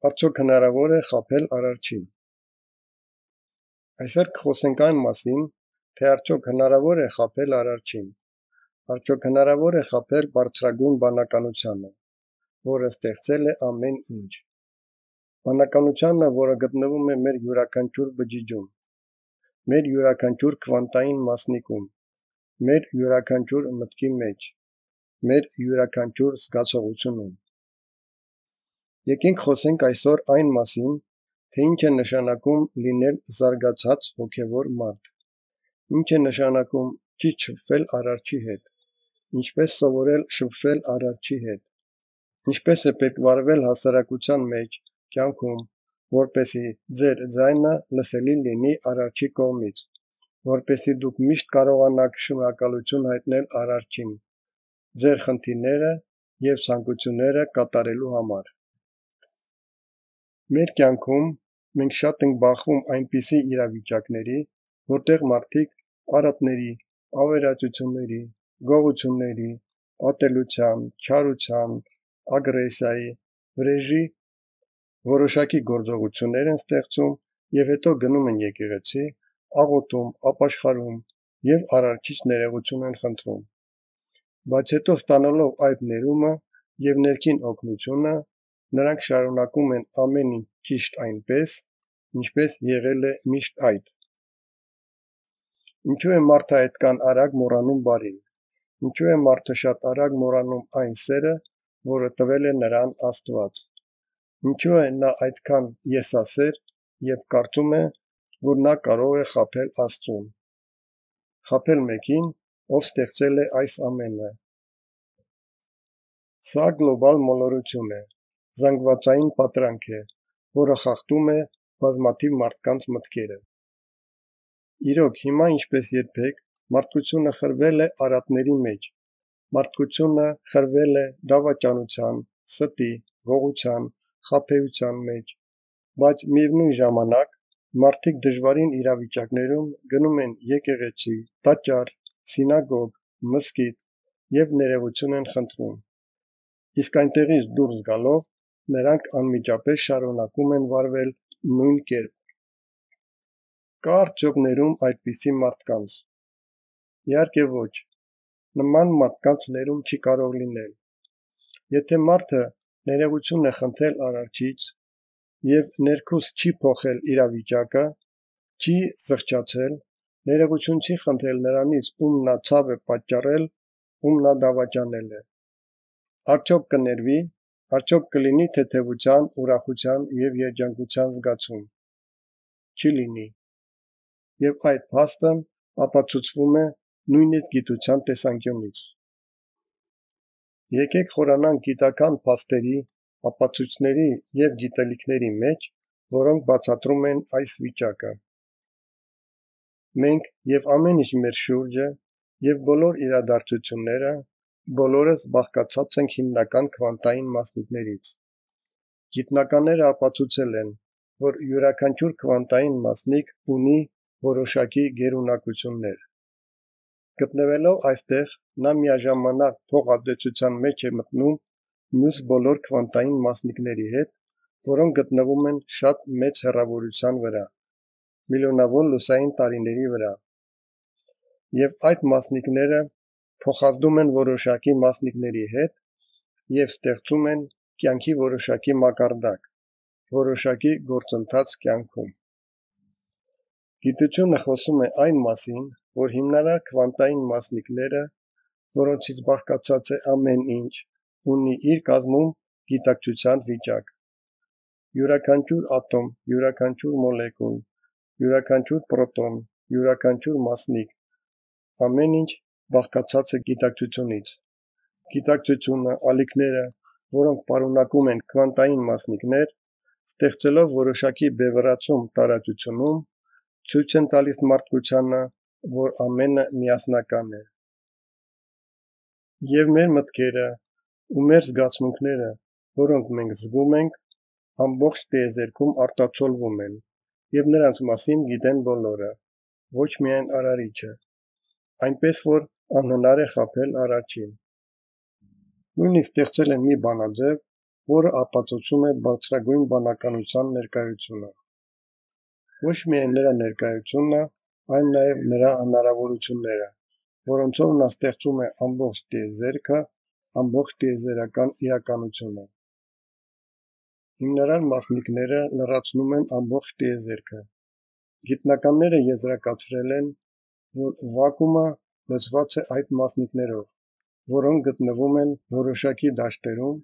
Արդյոք հնարավոր է խաբել Արարչին։ Այսօր կխոսենք այն մասին, թե արդյոք հնարավոր է խաբել Արարչին։ Արդյոք հնարավոր է խաբել բարձրագույն բանականությանը, որը ստեղծել է ամեն ինչ։ Բանականությանը, որը գտնվում է մեր յուրաքանչյուր բջիջում, մեր յուրաքանչյուր քվանտային մասնիկում, մեր յուրաքանչյուր մտքի մեջ, մեր յուրաքանչյուր զգացողությունում։ Եկենք խոսենք այսօր այն մասին, թե ինչ է նշանակում լինել զարգացած հոգևոր մարդ, ինչ է նշանակում ճիշտ շփվել Արարչի հետ, ինչպես սովորել շփվել Արարչի հետ, ինչպես է պետք վարվել հասարակության մեջ, կյանքում, որպեսզի ձեր ձայնը լսելի լինի Արարչի կողմից, որպեսզի դուք միշտ կարողանաք շնորհակալություն հայտնել Արարչին, ձեր խնդիրները և ցանկությունները կատարելու համար։ Մեր կյանքում մենք շատ ենք բախվում այնպիսի իրավիճակների, որտեղ մարդիկ արատների, ավերածությունների, գողությունների, ատելության, չարության, ագրեսիայի, վրեժի որոշակի գործողություններ են ստեղծում և հետո գնում են եկեղեցի, աղոթում, ապաշխարում և Արարչից ներողություն են խնդրում։ Բայց հետո ստանալով այդ ներումը և ներքին օգնությունը, նրանք շարունակում են ամեն ինչ ճիշտ այնպես, ինչպես եղել է միշտ այդ։ Ինչու է մարդը այդքան արագ մոռանում բարին։ Ինչու է մարդը շատ արագ մոռանում այն սերը, որը տվել է նրան Աստված։ Ինչու է նա այդքան եսասեր և կարծում է, որ նա կարող է խաբել Աստծուն։ Խաբել մեկին, ով ստեղծել է այս ամենը։ Սա գլոբալ մոլորություն է, զանգվածային պատրանք է, որը խախտում է բազմաթիվ մարդկանց մտքերը։ Իրոք, հիմա ինչպես երբեք, մարդկությունը խրվել է արատների մեջ, մարդկությունը խրվել է դավաճանության, ստի, գողության, խաբեության մեջ, բայց միևնույն ժամանակ մարդիկ դժվարին իրավիճակներում գնում են եկեղեցի, տաճար, սինագոգ, մզկիթ և ներողություն են խնդրում, իսկ այնտեղից դուրս գալով նրանք անմիջապես շարունակում են վարվել նույն կերպ։ Կա արդյոք ներում այդպիսի մարդկանց։ Իհարկե ոչ, նման մարդկանց ներում չի կարող լինել։ Եթե մարդը ներողություն է խնդրել Արարչից և ներքուստ չի փոխել իրավիճակը, չի զղջացել, ներողություն չի խնդրել նրանից, ում նա ցավ է պատճառել, ում նա դավաճանել է, արդյոք կներվի, արդյոք կլինի թեթևության, ուրախության և երջանկության զգացում։ Չի լինի։ Եվ այդ փաստն ապացուցվում է նույնիսկ գիտության տեսանկյունից։ Եկեք խորանանք գիտական փաստերի, ապացույցների և գիտելիքների մեջ, որոնք բացատրում են այս վիճակը։ Մենք և ամեն ինչ մեր շուրջը և բոլոր իրադարձությունները բոլորս բաղկացած ենք հիմնական քվանտային մասնիկներից։ Գիտնականները ապացուցել են, որ յուրաքանչյուր քվանտային մասնիկ ունի որոշակի գերունակություններ։ Գտնվելով այստեղ, նա միաժամանակ փոխազդեցության մեջ է մտնում մյուս բոլոր քվանտային մասնիկների հետ, որոնք գտնվում են շատ մեծ հեռավորության վրա, միլիոնավոր լուսային տարիների վրա։ Եվ այդ մասնիկները փոխազդում են որոշակի մասնիկների հետ և ստեղծում են կյանքի որոշակի մակարդակ, որոշակի գործընթաց կյանքում։ Գիտությունը խոսում է այն մասին, որ հիմնարար քվանտային մասնիկները, որոնցից բաղկացած է ամեն ինչ, ունի իր կազմում գիտակցության վիճակ։ Յուրաքանչյուր ատոմ, յուրաքանչյուր մոլեկուլ, յուրաքանչյուր պրոտոն, յուրաքանչյուր մասնիկ, ամեն ինչ բաղկացած է գիտակցությունից։ Գիտակցությունը, ալիքները, որոնք պարունակում են քվանտային մասնիկներ, ստեղծելով որոշակի բևեռացում տարածությունում, ցույց են տալիս մարդկությանը, որ ամենը միասնական է։ Եվ մեր մտքերը ու մեր զգացմունքները, որոնք մենք զգում ենք, ամբողջ տիեզերքում արտացոլվում են, և նրանց մասին գիտեն բոլորը, ոչ միայն Արարիչը, այնպես որ անհնար է խաբել Արարչին։ Նույնիսկ ստեղծել են մի բանաձև, որը ապացուցում է բարձրագույն բանականության ներկայությունը։ Ոչ միայն նրա ներկայությունն է, այլ նաև նրա հնարավորությունները, որոնցով նա ստեղծում է ամբողջ տիեզերքը, ամբողջ տիեզերական իրականությունը։ Հիմնարար մասնիկները լրացնում են ամբողջ տիեզերքը։ Գիտնականները եզրակացրել են, որ վակուումը լցված է այդ մասնիկներով, որոնք գտնվում են որոշակի դաշտերում,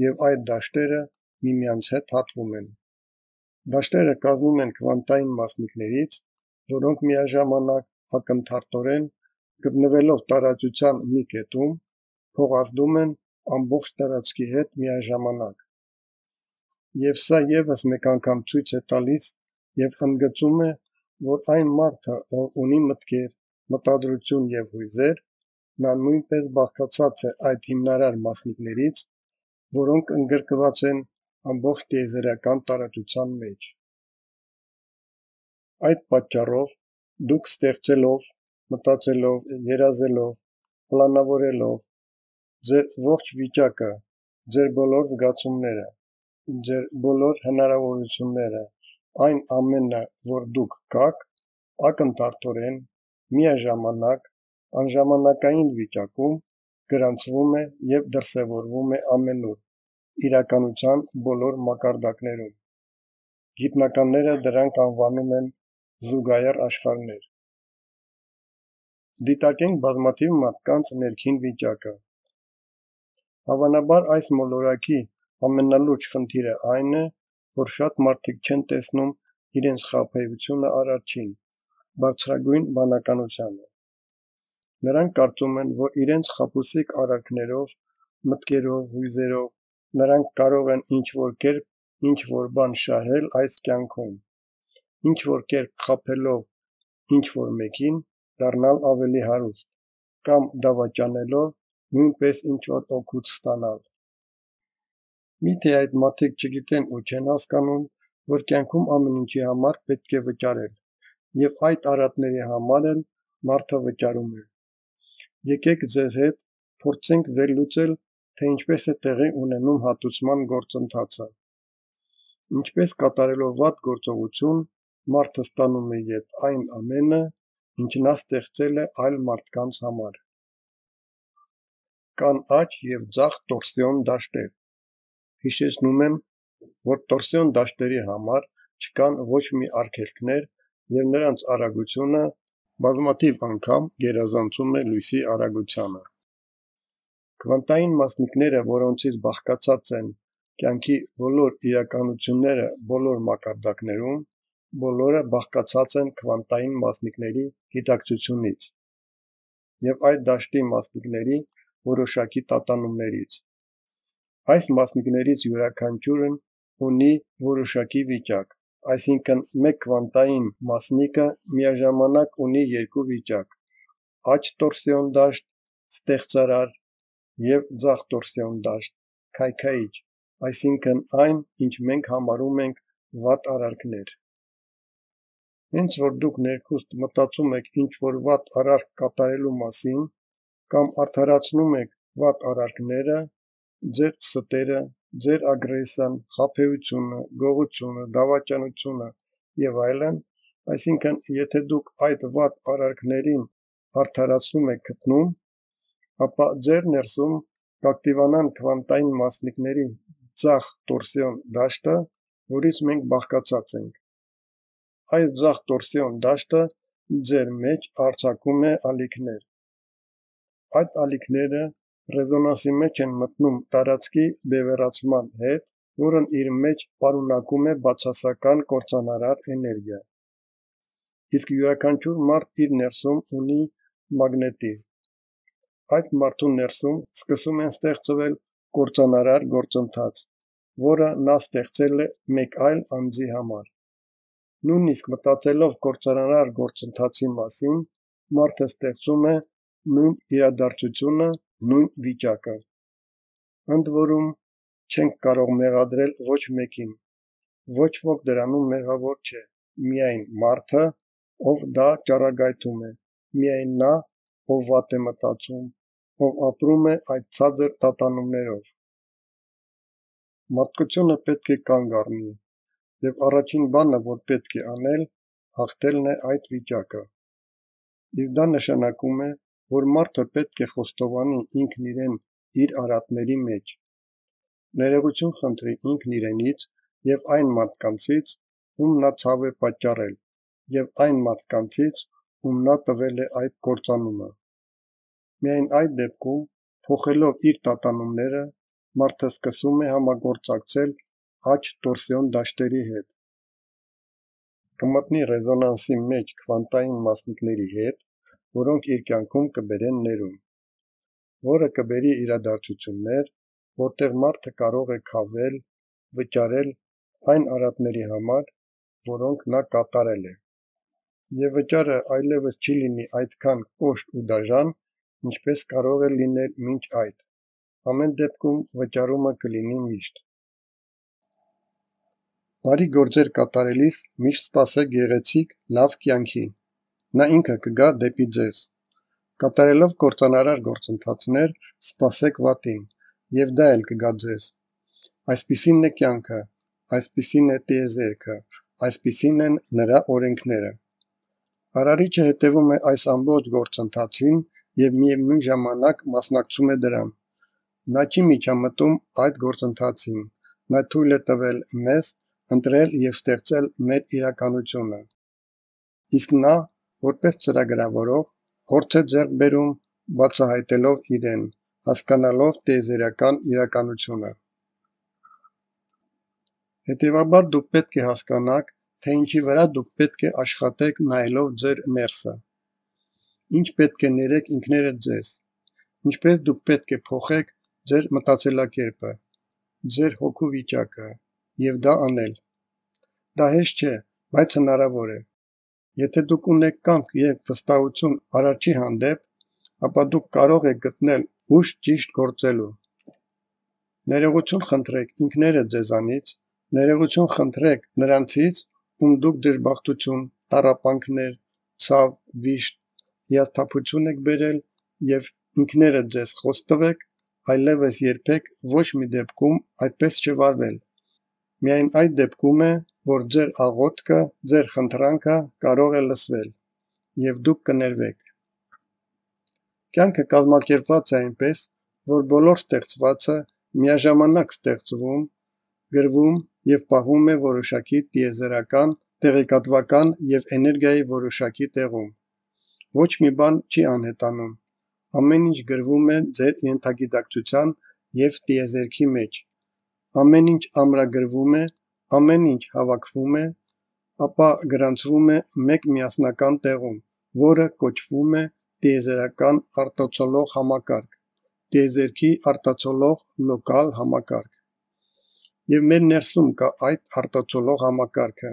և այդ դաշտերը միմյանց հետ հատվում են։ Դաշտերը կազմվում են քվանտային մասնիկներից, որոնք միաժամանակ ակնթարթորեն, գտնվելով տարածության մի կետում, փոխազդում են ամբողջ տարածքի հետ միաժամանակ։ Եվ սա ևս մեկ անգամ ցույց է տալիս և ընդգծում է, որ այն մարդը, ով ունի մտքեր, մտադրություն և հույզեր, նա նույնպես բաղկացած է այդ հիմնարար մասնիկներից, որոնք ընդգրկված են ամբողջ տիեզերական տարածության մեջ։ Այդ պատճառով դուք ստեղծելով, մտածելով, երազելով, պլանավորելով ձեր ողջ վիճակը, ձեր բոլոր զգացումները, ձեր բոլոր հնարավորությունները, այն ամենը, որ դուք կաք, ակնթարթորեն, միաժամանակ, անժամանակային վիճակում գրանցվում է և դրսևորվում է ամենուր, իրականության բոլոր մակարդակներում։ Գիտնականները դրանք անվանում են զուգահեռ աշխարհներ։ Դիտարկենք բազմաթիվ մարդկանց ներքին վիճակը։ Հավանաբար այս մոլորակի ամենալուրջ խնդիրը այն է, որ շատ մարդիկ չեն տեսնում իրենց խաբեությունը առաջին, բարձրագույն բանականությանը։ Նրանք կարծում են, որ իրենց խաբուսիկ արարքներով, մտքերով, հույզերով նրանք կարող են ինչ-որ կերպ ինչ-որ բան շահել այս կյանքում, ինչ-որ կերպ խաբելով ինչ-որ մեկին դառնալ ավելի հարուստ, կամ դավաճանելով նույնպես ինչ-որ օգուտ ստանալ։ Միթե այդ մարդիկ չգիտեն ու չեն հասկանում, որ կյանքում ամեն ինչի համար պետք է վճարել, և այդ արատների համար էլ մարդը վճարում է։ Եկեք ձեզ հետ փորձենք վերլուծել, թե ինչպես է տեղի ունենում հատուցման գործընթացը։ Ինչպես կատարելով վատ գործողություն, մարդը ստանում է ետ այն ամենը, ինչ նա ստեղծել է այլ մարդկանց համար։ Կան աջ և ձախ տորսիոն դաշտեր։ Հիշեցնում եմ, որ տորսիոն դաշտերի համար չկան ոչ մի արգելքներ և նրանց արագությունը բազմաթիվ անգամ գերազանցում է լույսի արագությանը։ Քվանտային մասնիկները, որոնցից բաղկացած են կյանքի բոլոր իրականությունները բոլոր մակարդակներում, բոլորը բաղկացած են քվանտային մասնիկների գիտակցությունից և այդ դաշտի մասնիկների որոշակի տատանումներից։ Այս մասնիկներից յուրաքանչյուրն ունի որոշակի վիճակ, այսինքն մեկ քվանտային մասնիկը միաժամանակ ունի երկու վիճակ՝ աջ տորսիոն դաշտ, ստեղծարար, և ձախ տորսիոն դաշտ, քայքայիչ, այսինքն այն, ինչ մենք համարում ենք վատ արարքներ։ Հենց որ դուք ներքուստ մտածում եք ինչ-որ վատ արարք կատարելու մասին, կամ արդարացնում եք վատ արարքները, ձեր ստերը, ձեր ագրեսիան, խաբեությունը, գողությունը, դավաճանությունը և այլն, այսինքն եթե դուք այդ վատ արարքներին արդարացում եք գտնում, ապա ձեր ներսում կակտիվանան քվանտային մասնիկների ձախ տորսիոն դաշտը, որից մենք բաղկացած ենք։ Այս ձախ տորսիոն դաշտը ձեր մեջ արձակում է ալիքներ։ Այդ ալիքները ռեզոնանսի մեջ են մտնում տարածքի բևեռացման հետ, որն իր մեջ պարունակում է բացասական կործանարար էներգիա։ Իսկ յուրաքանչյուր մարդ իր ներսում ունի մագնետիզմ։ Այդ մարդու ներսում սկսում են ստեղծվել կործանարար գործընթաց, որը նա ստեղծել է մեկ այլ անձի համար։ Նույնիսկ մտածելով կործանարար գործընթացի մասին, մարդը ստեղծում է նույն իրադարձությունը, նույն վիճակը։ Ընդ որում, չենք կարող մեղադրել ոչ մեկին, ոչ ոք դրանում մեղավոր չէ, միայն մարդը, ով դա ճառագայթում է, միայն նա, ով վատ է մտածում, ով ապրում է այդ ցածր տատանումներով։ Մարդկությունը պետք է կանգ առնի, և առաջին բանը, որ պետք է անել, հաղթելն է այդ վիճակը։ Իսկ դա նշանակում է, որ մարդը պետք է խոստովանի ինքն իրեն իր արատների մեջ, ներողություն խնդրի ինքն իրենից և այն մարդկանցից, ում նա ցավ է պատճառել, և այն մարդկանցից, ում նա տվել է այդ կործանումը։ Միայն այդ դեպքում, փոխելով իր տատանումները, մարդը սկսում է համագործակցել աջ տորսիոն դաշտերի հետ։ Կմտնի ռեզոնանսի մեջ քվանտային մասնիկների հետ, որոնք իր կյանքում կբերեն ներում, որը կբերի իրադարձություններ, որտեղ մարդը կարող է քավել, վճարել այն արատների համար, որոնք նա կատարել է։ Եվ վճարը այլևս չի լինի այդքան կոշտ ու դաժան, ինչպես կարող էր լինել մինչ այդ։ Ամեն դեպքում վճարումը կլինի միշտ։ Բարի գործեր կատարելիս միշտ սպասեք գեղեցիկ, լավ կյանքի։ Նա ինքը կգա դեպի ձեզ։ Կատարելով կործանարար գործընթացներ, սպասեք վատին, և դա էլ կգա ձեզ։ Այսպիսին է կյանքը, այսպիսին է տիեզերքը, այսպիսին են նրա օրենքները։ Արարիչը հետևում է այս ամբողջ գործընթացին և միևնույն ժամանակ մասնակցում է դրան։ Նա չի միջամտում այդ գործընթացին, նա թույլ է տվել մեզ ընտրել և ստեղծել մեր իրականությունը։ Իսկ նա, որպես ծրագրավորող, փորձ է ձեռք բերում, բացահայտելով իրեն, հասկանալով տիեզերական իրականությունը։ Հետևաբար դուք պետք է հասկանաք, թե ինչի վրա դուք պետք է աշխատեք նայելով ձեր ներսը։ Ինչ պետք է ներեք ինքներդ ձեզ, ինչպես դուք պետք է փոխեք ձեր մտածելակերպը, ձեր հոգու վիճակը, և դա անել։ Դա հեշտ չէ, բայց հնարավոր է։ Եթե դուք ունեք կամք և վստահություն Արարչի հանդեպ, ապա դուք կարող եք գտնել ուժ ճիշտ գործելու։ Ներողություն խնդրեք ինքներդ ձեզանից, ներողություն խնդրեք նրանցից, ում դուք դժբախտություն, տառապանքներ, ցավ, վիշտ, հիասթափություն եք բերել և ինքներդ ձեզ խոստովեք այլևս երբեք ոչ մի դեպքում այդպես չվարվել։ Միայն այդ դեպքում է, որ ձեր աղոթքը, ձեր խնդրանքը կարող է լսվել, և դուք կներվեք։ Կյանքը կազմակերպված է այնպես, որ բոլոր ստեղծվածը միաժամանակ ստեղծվում, գրվում և պահվում է որոշակի տիեզերական, տեղեկատվական և էներգիայի որոշակի տեղում։ Ոչ մի բան չի անհետանում։ Ամեն ինչ գրվում է ձեր ենթագիտակցության և տիեզերքի մեջ։ Ամեն ինչ ամրագրվում է, ամեն ինչ հավաքվում է, ապա գրանցվում է մեկ միասնական տեղում, որը կոչվում է տիեզերական արտացոլող համակարգ, տիեզերքի արտացոլող լոկալ համակարգ։ Եվ մեր ներսում կա այդ արտացոլող համակարգը։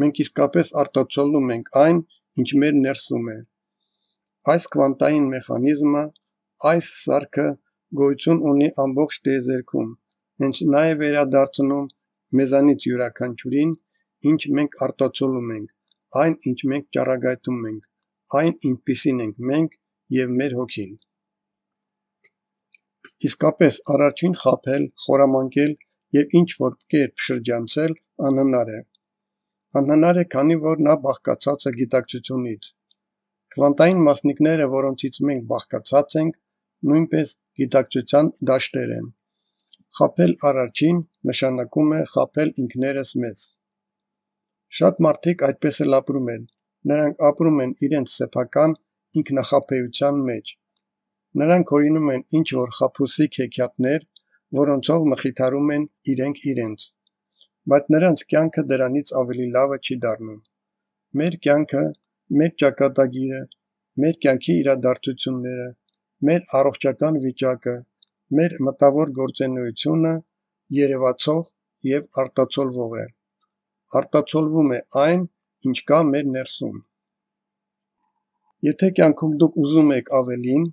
Մենք իսկապես արտացոլում ենք այն, ինչ մեր ներսում է։ Այս քվանտային մեխանիզմը, այս սարքը գոյություն ունի ամբողջ տիեզերքում, հենց նա է վերադարձնում մեզանից յուրաքանչյուրին, ինչ մենք արտացոլում ենք, այն, ինչ մենք ճառագայթում ենք, այն, ինչպիսին ենք մենք և մեր հոգին։ Իսկապես Արարչին խաբել, խորամանկել և ինչ-որ կերպ շրջանցել անհնար է։ Անհնար է, քանի որ նա բաղկացած է գիտակցությունից։ Քվանտային մասնիկները, որոնցից մենք բաղկացած ենք, նույնպես գիտակցության դաշտեր են։ Խաբել Արարչին նշանակում է խաբել ինքներս մեզ։ Շատ մարդիկ այդպես էլ ապրում են։ Նրանք ապրում են իրենց սեփական ինքնախաբեության մեջ։ Նրանք հորինում են ինչ-որ խաբուսիկ հեքիաթներ, որոնցով մխիթարում են իրենք իրենց։ Բայց նրանց կյանքը դրանից ավելի լավը չի դառնում։ Մեր կյանքը, մեր ճակատագիրը, մեր կյանքի իրադարձությունները, մեր առողջական վիճակը, մեր մտավոր գործունեությունը երևացող և արտացոլվող է։ Արտացոլվում է այն, ինչ կա մեր ներսում։ Եթե կյանքում դուք ուզում եք ավելին,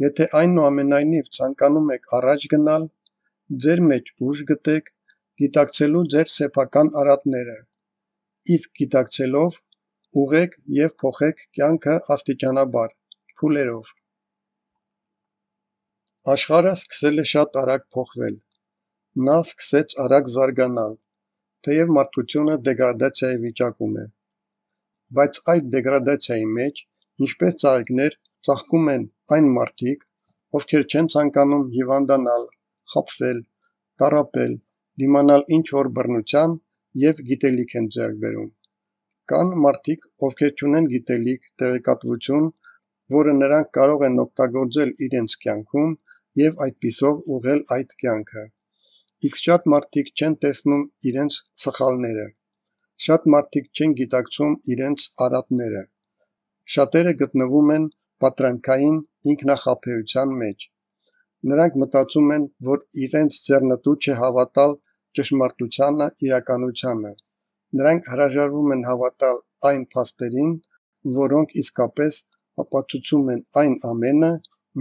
եթե այնուամենայնիվ ցանկանում եք առաջ գնալ, ձեր մեջ ուժ գտեք, գիտակցելու ձեր սեփական արատները, իսկ գիտակցելով ուղղեք և փոխեք կյանքը աստիճանաբար, փուլերով։ Աշխարհը սկսել է շատ արագ փոխվել։ Նա սկսեց արագ զարգանալ, թեև մարդկությունը դեգրադացիայի վիճակում է։ Բայց այդ դեգրադացիայի մեջ, ինչպես ծաղիկներ, ծաղկում են այն մարդիկ, ովքեր չեն ցանկանում հիվանդանալ, խաբվել, տառապել, դիմանալ ինչ-որ բռնության և գիտելիք են ձեռք բերում։ Կան մարդիկ, ովքեր չունեն գիտելիք, տեղեկատվություն, որը նրանք կարող են օգտագործել իրենց կյանքում և այդպիսով ուղղել այդ կյանքը։ Իսկ շատ մարդիկ չեն տեսնում իրենց սխալները։ Շատ մարդիկ չեն գիտակցում իրենց արատները։ Շատերը գտնվում են պատրանքային ինքնախաբեության մեջ։ Նրանք մտածում են, որ իրենց ձեռնտու չէ հավատալ ճշմարտությանը, իրականությանը։ Նրանք հրաժարվում են հավատալ այն փաստերին, որոնք իսկապես ապացուցում են այն ամենը,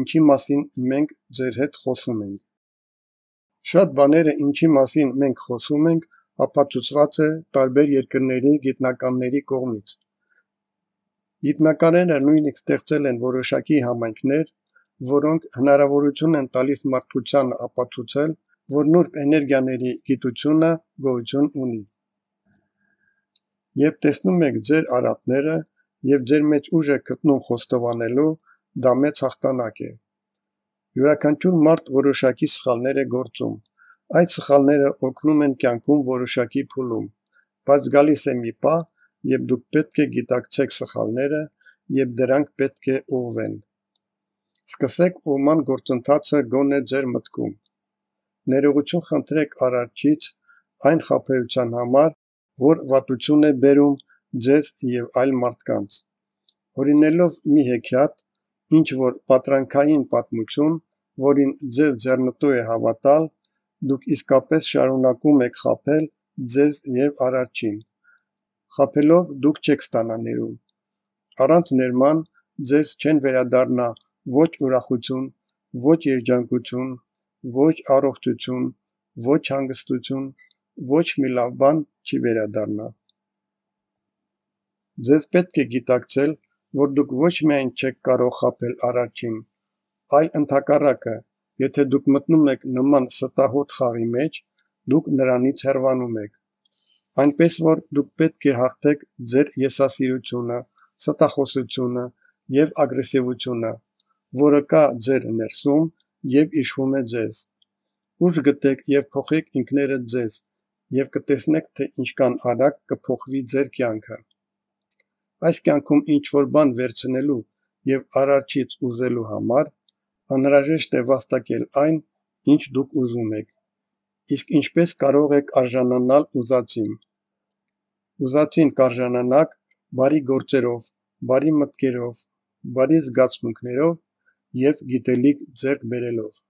ինչի մասին մենք ձեր հետ խոսում ենք։ Շատ բաները, ինչի մասին մենք խոսում ենք, ապացուցված է տարբեր երկրների գիտնականների կողմից։ Գիտնականները նույնիսկ ստեղծել են որոշակի համայնքներ, որոնք հնարավորություն են տալիս մարդկությանը ապացուցել, որ նուրբ էներգիաների գիտությունը գոյություն ունի։ Երբ տեսնում եք ձեր արատները և ձեր մեջ ուժ եք գտնում խոստովանելու, դա մեծ հաղթանակ է։ Յուրաքանչյուր մարդ որոշակի սխալներ է գործում։ Այդ սխալները օգնում են կյանքում որոշակի փուլում, բայց գալիս է մի պահ, երբ դուք պետք է գիտակցեք սխալները և դրանք պետք է ուղղվեն։ Սկսեք ուղղման գործընթացը գոնե ձեր մտքում։ Ներողություն խնդրեք Արարչից այն խաբեության համար, որ վատություն է բերում ձեզ և այլ մարդկանց։ Հորինելով մի հեքիաթ, ինչ որ պատրանքային պատմություն, որին ձեզ ձեռնտու է հավատալ, դուք իսկապես շարունակում եք խաբել ձեզ և Արարչին։ Խաբելով դուք չեք ստանա ներում։ Առանց ներման ձեզ չեն վերադառնա ոչ ուրախություն, ոչ երջանկություն, ոչ առողջություն, ոչ հանգստություն, ոչ մի լավ բան չի վերադառնա։ Ձեզ պետք է գիտակցել, որ դուք ոչ միայն չեք կարող խաբել Արարչին, այլ ընդհակառակը, եթե դուք մտնում եք նման ստահոդ խաղի մեջ, դուք նրանից հեռանում եք։ Այնպես որ դուք պետք է հաղթեք ձեր եսասիրությունը, ստախոսությունը և ագրեսիվությունը, որը կա ձեր ներսում և իշխում է ձեզ։ Ուժ գտեք և փոխեք ինքներդ ձեզ, և կտեսնեք, թե ինչքան արագ կփոխվի ձեր կյանքը։ Այս կյանքում ինչ-որ բան վերցնելու և Արարչից ուզելու համար անհրաժեշտ է վաստակել այն, ինչ դուք ուզում եք։ Իսկ ինչպես կարող եք արժանանալ ուզածին։ Ուզածին կարժանանաք բարի գործերով, բարի մտքերով, բարի զգացմունքներով և գիտելիք ձեռք բերելով։